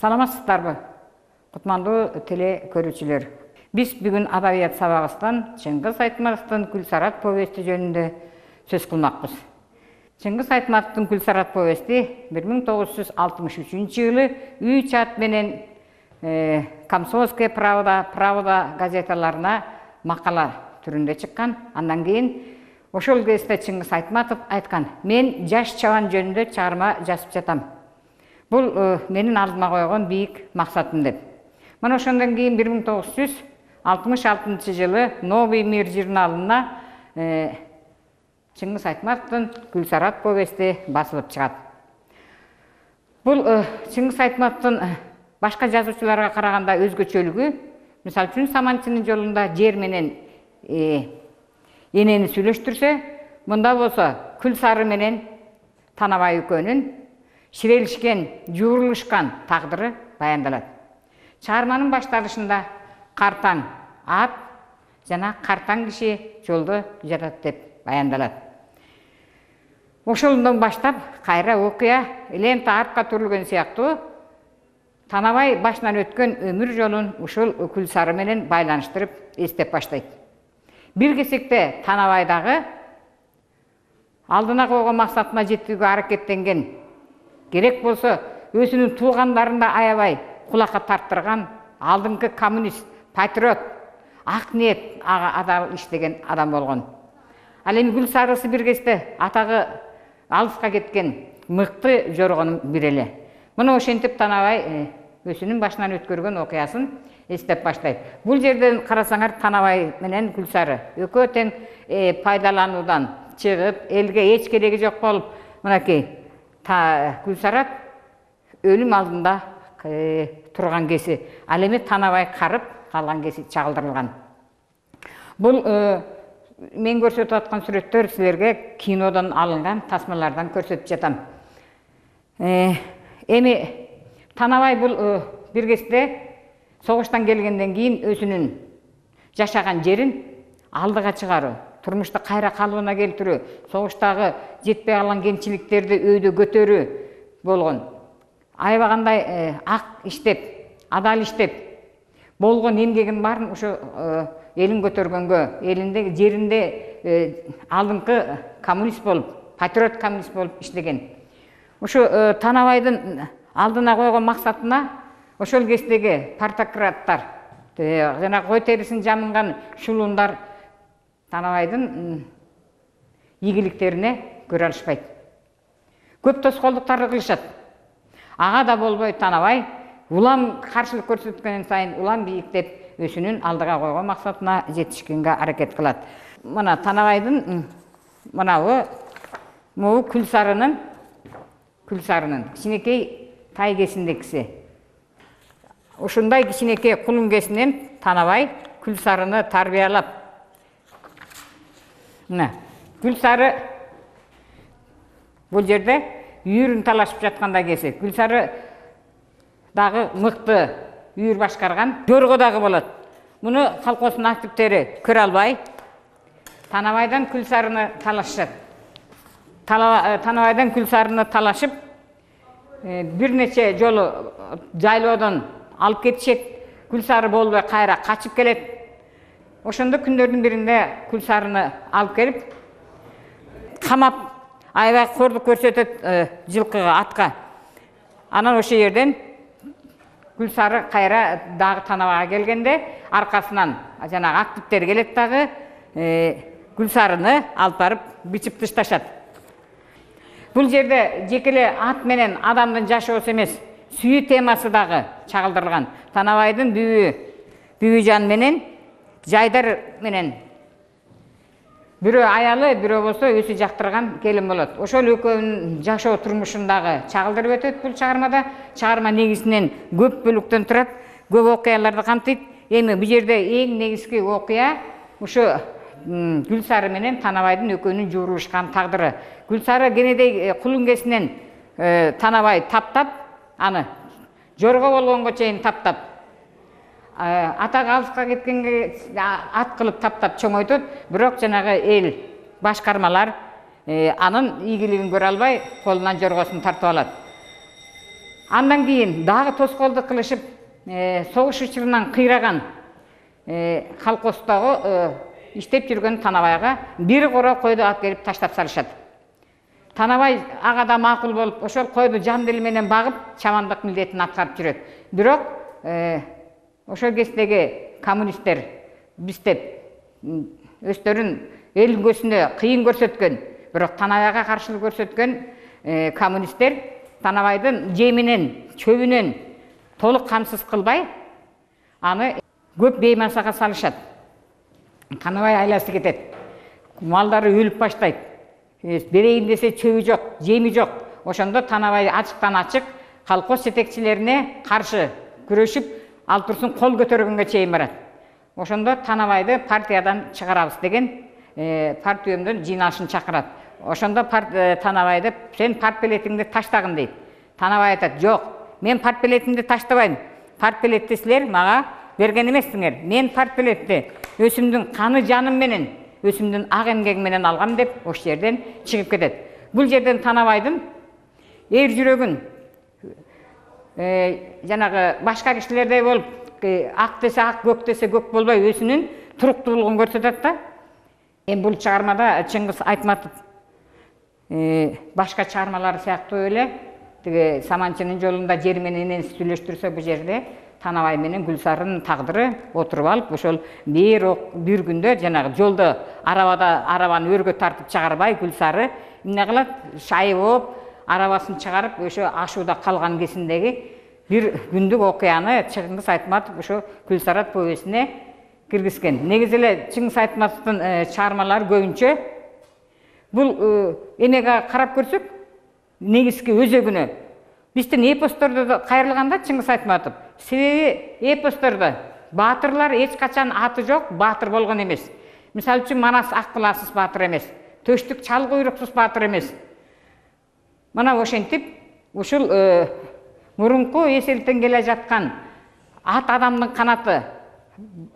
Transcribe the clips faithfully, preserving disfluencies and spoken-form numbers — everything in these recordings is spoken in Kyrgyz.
Саламатсыздарбы, кутмандуу теле көрүүчүлөр. Биз бүгүн адабият сабагыбыздан Чыңгыз Айтматовдун Гүлсарат повести жөнүндө сөз кылмакпыз. Чыңгыз Айтматовдун Гүлсарат повести бир миң тогуз жүз алтымыш үчүнчү жылы үч ат менен Комсомольская правда, правда газеталарына макала түрүндө чыккан. Андан кийин ошол кезде Чыңгыз Айтматов айткан: "Мен жаш чабан жөнүндө чыгарма жазып жатам. Бул менин алдыма койгон бийик максатым" деп. Мына ошондон кийин бир миң тогуз жүз алтымыш алтынчы жылы Новый мир журналына Чыңгыз Айтматовдун Гүлсарат повести басылып чыгат. Бул Чыңгыз Айтматовдун башка жазуучуларга караганда өзгөчөлүгү, мисалы үчүн Саманчынын жолунда жер менен энени сүйлөштүрсө, мында болсо Күлсары менен Танабай экөөнүн ширелишкен, жуурулушкан тагдыры баяндалат. Чыгарманын башталышында картаң ат жана картаң киши жолдо жатат деп баяндалат. Ошондон баштап кайра окуя лента артка түрүлгөн сыяктуу Танабай башынан өткөн өмүр жолун ушул Күлсары менен байланыштырып эстеп баштайт. Бир кезекте Танабай дагы алдына койгон максатына жетүүгө аракеттенген, керек болсо өзүнүн туугандарында аябай кулакка тарттырган алдыңкы коммунист, патриот, ак ниет адам иштеген адам болгон. Ал эми Гүлсарысы бир кезде атагы алыска кеткен мыкты жоргонун бири эле. Мына ошентип Танабай өзүнүн башынан өткөргөн окуясын эстеп баштайт. Бул жерден карасаңар Танабай менен Гүлсары экөө тең пайдалануудан чыгып, элге эч кереги жок болуп, мынакей Гүлсарат өлүм алдында турган кези. Ал эми Танабай карып калган кези чагылдырылган. Бул мен көрсөтүп аткан сүрөттөр силерге кинодон алынган тасмалардан көрсөтүп жатам. Эми Танабай бул бир кезде согуштан келгенден кийин өзүнүн жашаган жерин алдыга чыгаруу, турмушта кайра калыбына келтирүү, согуштагы жетпей калган кемчиликтерди өйдө көтөрүү болгон. Аябагандай ак иштеп, адал иштеп, болгон эмгегин баарын ошо элин көтөргөнгө, элинде жеринде алдыңкы коммунист болуп, патриот коммунист болуп иштеген. Ошо Танабайдын алдына койгон максатына ошол кездеги партократтар, жана кой терисин жамынган шулундар Танабайдын ийгиликтерине көрө алышпайт. Көп тоскоолдуктарды кылышат. Ага да болбой Танабай улам каршылык көрсөткөн сайын улам бийиктеп өзүнүн алдыга койгон максатына жетишкенге аракет кылат. Мына Танабайдын мынабы могу Күлсарынын Күлсарынын кичинекей тайгесиндекиси. Ушундай кичинекей кулуңгесинен Танабай Күлсарыны тарбиялап. Мына Күлсары бул жерде үйүрүн талашып жатканда кези. Күлсары дагы мыкты үйүр башкарган, жорго дагы болот. Муну колхоздун активдери көрө албай Танабайдан Күлсарыны талашышат. Танабайдан Күлсарыны талашып, бир нече жолу жайлоодон алып кетишет. Күлсары болбой кайра качып келет. Ошондо күндөрдүн биринде Күлсарыны алып келип, камап, аябай кордук көрсөтөт жылкыга, атка. Анан ошол жерден Күлсары кайра дагы Танабайга келгенде аркасынан жанагы активдер келет дагы Күлсарыны алып барып бичип ташташат. Бул жерде жекеле ат менен адамдын жашоосу эмес, сүйүү темасы дагы чагылдырылган. Танабайдын бүйү, Бүйүжан менен Жайдар менен бирөө аялы, бирөө болсо өзү жактырган келин болот. Ошол экөөнүн жашоо турмушундагы чагылдырып өтөт бул чыгармада. Чыгарма негизинен көп бөлүктөн турат, көп окуяларды камтыйт. Эми бул жерде эң негизги окуя ушу Гүлсары менен Танабайдын экөөнүн жуурулушкан тагдыры. Гүлсары кенедей кулуңгесинен Танабай таптап, аны жорго болгонго чейин таптап, атак алыска кеткенге ат кылып таптап чоңойтот, бирок жанагы эл башкармалар анын ийгилигин көрө албай колунан жоргосун тартып алат. Андан кийин дагы тоскоолдук кылышып, согуш учурунан кыйраган колхоздогу иштеп жүргөн Танабайга бир коро койду алып келип таштап салышат. Танабай ага да макул болуп, ошол койду жан дили менен багып, чамандык милдетин аткарып жүрөт. Бирок ошол кездеги коммунисттер биздеп өздөрүн эл көзүнө кыйын көрсөткөн, бирок Танабайга каршылык көрсөткөн коммунисттер Танабайдын жеминен, чөбүнөн толук камсыз кылбай, аны көп беймансага салышат. Танабай айласы кетет. Малдары өлүп баштайт. Берейин десе чөбү жок, жеми жок. Ошондо Танабай ачыктан ачык колхоз жетекчилерине каршы күрөшүп, ал турсун кол көтөргөнгө чейин барат. Ошондо Танабайды партиядан чыгарабыз деген партия өмдөн жыйналышын чакырат. Ошондо Танабайды сен партбилетиңди таштагын дейт. Танабай айтат: "Жок, мен партбилетимди таштабайм. Партбилетти силер мага берген эмессиңер. Мен партбилетти өзүмдүн каны жаным менен, өзүмдүн ак эмгегим менен алгам" деп ошол жерден чыгып кетет. Бул жерден Танабайдын эр жүрөгүн жанагы башка кишилердей болуп, ак десе ак, көк десе көк болбой өзүнүн туруктуулугун көрсөтөт да. Эми бул чыгармада Чыңгыз Айтматов башка чыгармалары сыяктуу эле тиги Саманчынын жолунда жер менен энеси сүйлөштүрсө, бул жерде Танабай менен Гүлсарынын тагдыры отуруп алып, ошол бир бир күндө жанагы жолдо арабада арабаны өргө тартып чыгарбай, Гүлсары эмне кылат? Шайып болуп, арабасын чыгарып, ошо ашууда калган кезиндеги бир күндүк окуяны Чыңгыз Айтматов ошо Гүлсарат повестине киргизген. Негизи эле Чыңгыз Айтматовдун чыгармалары көбүнчө бул эмеге карап көрсөк, негизги өзөгүнө биздин эпостордо кайрылганда Чыңгыз Айтматов, себеби эпостордо баатырлар эч качан аты жок баатыр болгон эмес. Мисалы үчүн Манас ак кыласыз баатыр эмес, Төштүк чал куйруксуз баатыр эмес. Мына ошентип ушул мурунку эселтен келе жаткан ат адамдын канаты,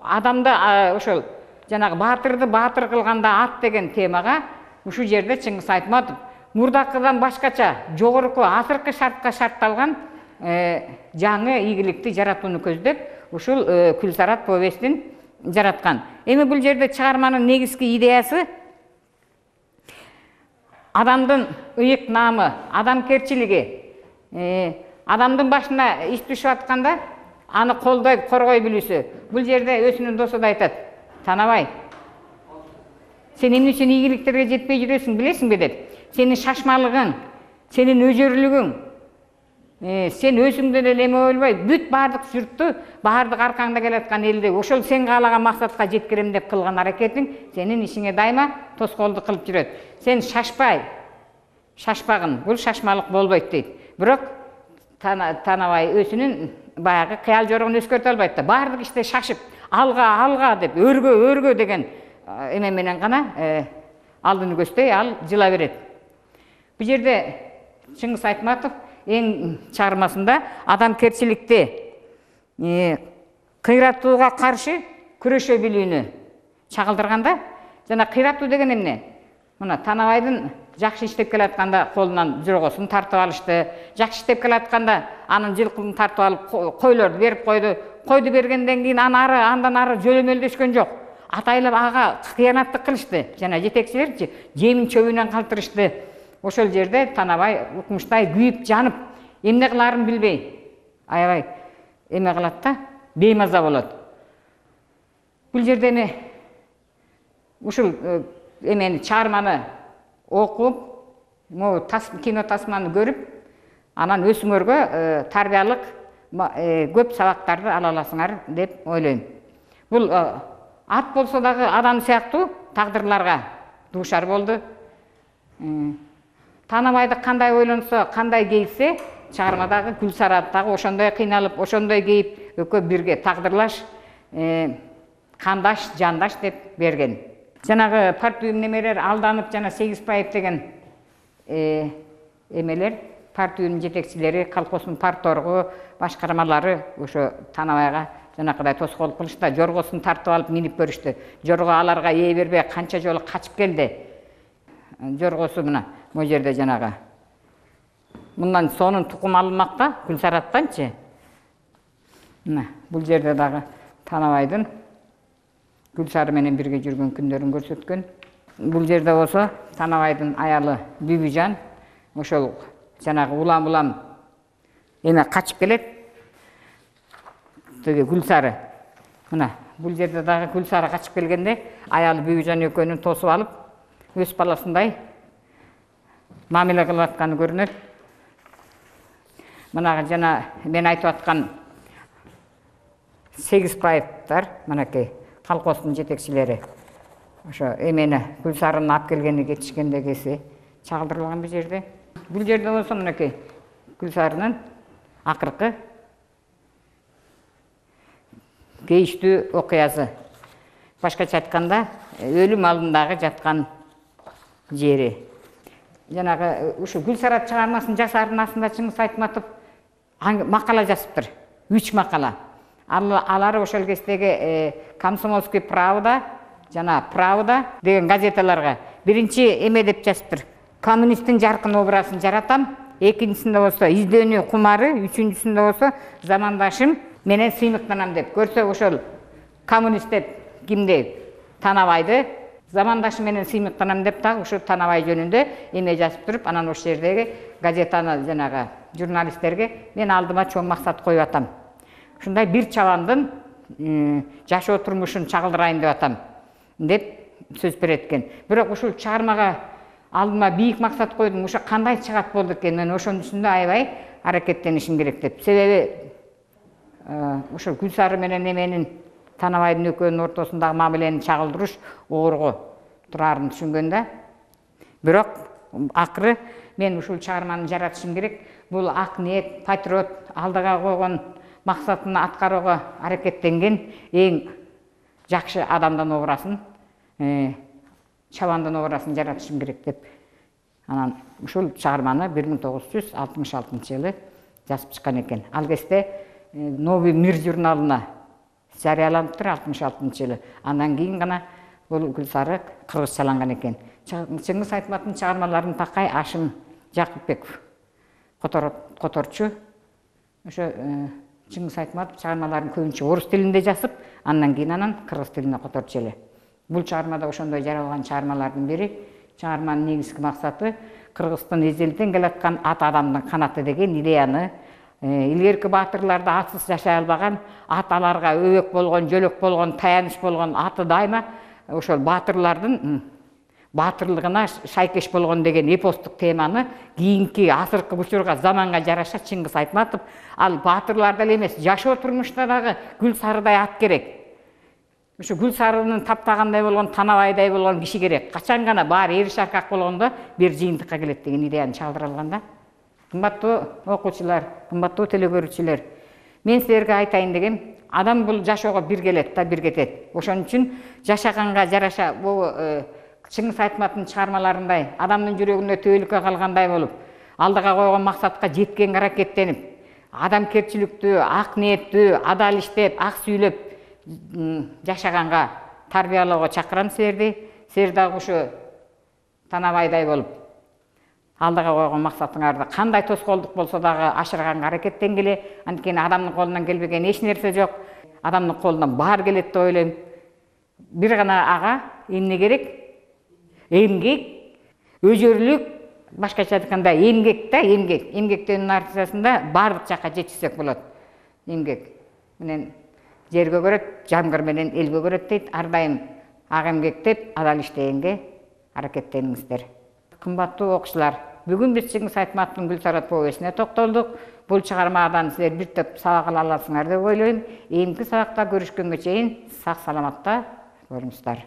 адамды ошол жанагы баатырды баатыр кылганда ат деген темага ушул жерде Чыңгыз Айтматов мурдакыдан башкача жогорку азыркы шартка шартталган жаңы ийгиликти жаратууну көздөп ушул Гүлсарат повестин жараткан. Эми бул жерде чыгарманын негизги идеясы адамдын ыйык наамы, адамкерчилиги, адамдын башына иш түшүп атканда аны колдой, коргой билүүсү. Бул жерде өзүнүн досу да айтат: "Танабай, сен эмне үчүн ийгиликтерге жетпей жүрөсүң билесиңби?" деп. Сенин шашмалыгың, сенин өжөрлүгүң, сен өзүңдөн эле эме болбой, бүт баардык журтту, баардык аркаңда келаткан элди ошол сен каалаган максатка жеткирем деп кылган аракетиң сенин ишиңе дайыма тоскоолдук кылып жүрөт. Сен шашпай, шашпагын, бул шашмалык болбойт дейт. Бирок Танабай өзүнүн баягы кыял жорогун өзгөртө албайт да. Баардык иште шашып, алга, алга деп, өргө, өргө деген эме менен гана алдын көздөй ал жыла берет. Бул жерде Чыңгыз Айтматов эң чыгармасында адамкерчиликти, кыйратууга каршы күрөшө билүүнү чагылдырганда, жана кыйратуу деген эмне? Мына Танабайдын жакшы иштеп келатканда колунан жоргосун тартып алышты, жакшы иштеп келатканда анын жылкысын тартып алып койлорду берип койду. Койду бергенден кийин аны ары, андан ары жөлөмөлдөшкөн жок. Атайлап ага кыянаттык кылышты. Жана жетекчилерчи жемин чөбүнөн калтырышты. Ошол жерде Танабай укмуштай күйүп, жанып, эмне кыларын билбей, аябай эме кылат да, беймаза болот. Бул жерде эми ушул эмени чыгарманы окуп, могу кино тасманы көрүп, анан өзүңөргө тарбиялык көп сабактарды ала аласыңар деп ойлойм. Бул ат болсо дагы адам сыяктуу тагдырларга дуушар болду. Танабайды кандай ойлонсо, кандай кейсе, чыгармадагы Гүлсарат дагы ошондой кыйналып, ошондой кейип, экөө бирге тагдырлаш, кандаш, жандаш деп берген. Жанагы партия немелер алданып, жана Сегизбаев деген эмелер, партиянын жетекчилери, колхоздун парторгу, башкармалары ошо Танабайга жанакыдай тоскоолдук кылышты, жоргосун тартып алып минип көрүштү. Жорго аларга ээ бербей канча жолу качып келди. Жоргосу мына могу жерде жанагы. Мындан сонун тукум алынмак да, Гүлсараттанчы. Мына бул жерде дагы Танабайдын Гүлсары менен бирге жүргөн күндөрүн көрсөткөн. Бул жерде болсо Танабайдын аялы Бүбүжан ошол жанагы улам-улам эме качып келет. Теги Гүлсары. Мына бул жерде дагы Гүлсары качып келгенде аялы Бүбүжан экөөнүн тосуп алып, өз баласындай мамиле кылып атканы көрүнөт. Мына жана мен айтып аткан сегиз пайыптар, мынакей колхоздун жетекчилери. Ошо эмени Гүлсарыны алып келгени кетишкендегиси чагылдырылган бул жерде. Бул жерде болсо мынакей Гүлсарынын акыркы кейиштүү окуясы. Башкача айтканда, өлүм алдындагы жаткан жери. Жанагы ушу Гүлсарат чыгармасын жасаардын астында Чыңгыз Айтматов макала жазыптыр. үч макала. Алар ошол кездеги Комсомольский правда, жана Правда деген газеталарга биринчи эме деп жазыптыр. Коммунисттин жаркын образын жаратам. Экинчисинде болсо издөөнү кумары, үчүнчүсүндө болсо замандашым менен сыймыктанам деп. Көрсө ошол коммунист деп кимди? Танабайды замандашым менен сыймыктанам деп дагы ушу Танабай жөнүндө эме жазып туруп, анан ошол жердеги газетаны жанагы журналисттерге мен алдыма чоң максат коюп атам. Ушундай бир чабандын жашоо турмушун чагылдырайын деп атам деп сөз берет экен. Бирок ушул чыгармага алдыма бийик максат койдум. Ошо кандай чыгат болду экен? Мен ошонун үстүндө аябай аракеттенишим керек деп. Себеби ошо Гүлсары менен эменин Танабайдын экөөнүн ортосундагы мамилени чагылдырыш оорго турарын түшүнгөн да. Бирок акыры мен ушул чыгарманы жаратышым керек. Бул ак ниет, патриот, алдыга койгон максатын аткарууга аракеттенген эң жакшы адамдын образын, чабандын образын жаратышым керек деп. Анан ушул чыгарманы бир миң тогуз жүз алтымыш алтынчы жылы жазып чыккан экен. Ал кезде Новый мир журналына жарыяланыптыр алтымыш алтынчы жылы. Андан кийин гана бул Гүлсары кыргызчаланган экен. Чыңгыз Айтматовдун чыгармаларын такай Ашым Жакупбеков которчу. Ошо Чыңгыз Айтматов чыгармаларын көбүнчө орус тилинде жазып, андан кийин анан кыргыз тилине которчу эле. Бул чыгармада ошондой жаралган чыгармалардын бири. Чыгарманын негизги максаты Кыргыздын эзелден келаткан ат адамдын канаты деген идеяны, илгерки баатырларды атсыз жашай албаган, ат аларга өбөк болгон, жөлөк болгон, таяныч болгон, аты дайыма ошол баатырлардын баатырлыгына шайкеш болгон деген эпостук теманы кийинки азыркы учурга, заманга жараша Чыңгыз Айтматов ал баатырларда эле эмес, жашоо турмушта дагы Гүлсарыдай ат керек. Ушу Гүлсарынын таптагандай болгон, Танабайдай болгон киши керек. Качан гана баары эри шаркак болгондо бир жыйынтыкка келет деген идеяны чагылдыра алган да. Кымбаттуу окуучулар, кымбаттуу телекөрүүчүлөр, мен силерге айтайын дегем, адам бул жашоого бир келет да, бир кетет. Ошон үчүн жашаганга жараша бул Чыңгыз Айтматовдун чыгармаларындай адамдын жүрөгүндө төөлүккө калгандай болуп, алдыга койгон максатка жеткенге аракеттенип, адамкерчиликтүү, ак ниеттүү, адал иштеп, ак сүйлөп жашаганга тарбиялоого чакырам силерди. Силер дагы ушу Танабайдай болуп, алдыга койгон максатыңарды кандай тоскоолдук болсо дагы ашырганга аракеттенгиле. Анткени адамдын колунан келбеген эч нерсе жок. Адамдын колунан баары келет деп ойлойм. Бир гана ага эмне керек? Эмгек, өжөрлүк, башкача айтканда эмгек да, эмгек. Эмгектенин аркасында баардык жакка жетишсек болот. Эмгек менен жерге көрөт, жамгыр менен элге көрөт дейт. Ар дайым ак эмгектеп, адал иштегенге аракеттениңиздер. Кымбаттуу окуучулар, бүгүн биз Чыңгыз Айтматовдун Гүлсарат повестине токтолдук. Бул чыгармадан силер бир топ сабак ала аласыңар деп ойлойм. Эмки сабакта көрүшкөнгө чейин сак саламатта болуңуздар.